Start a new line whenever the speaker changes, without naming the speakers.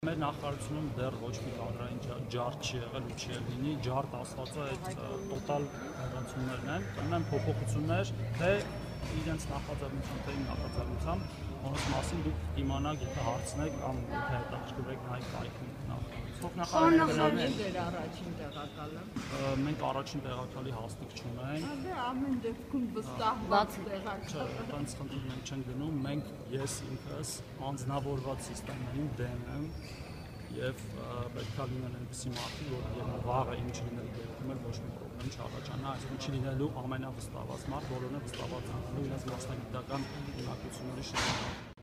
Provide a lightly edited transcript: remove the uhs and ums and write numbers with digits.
Մեր նախարարությունում դեռ ոչ մի կադրային ջարդ չի եղել ու չի լինի, ջարդ ասվածը այդ տոտալ հեռացումներն են, ունեն փոփոխություններ, թե իրենց նախաձեռնությամբ, թե իմ նախաձեռնությամբ, որոնց մասին դուք իմանաք, եթե հարցնեք կամ եթե հետաքրքրվեք նայեք կայքում
Փոխնախարարների դեր առաջին տեղակալը։
Մենք առաջին տեղակալի հաստիք չունենք։
Դե ամեն դեպքում վստահված տեղակալ։
Այդպես խնդիր մենք չենք գնում, մենք ես ինքս անձնավորված սիստեմային դեմ եմ եւ պետք է լինեն այնպիսի մարդիկ, որ վաղը ինչ լինել դեպքում էլ ոչ մի խնդրեմ չառաջանա, այսինքն չի լինելու ամենավստահված մարդ, բոլորն է վստահված անելու իրենց մասնագիտական ունակությունների շրջանում։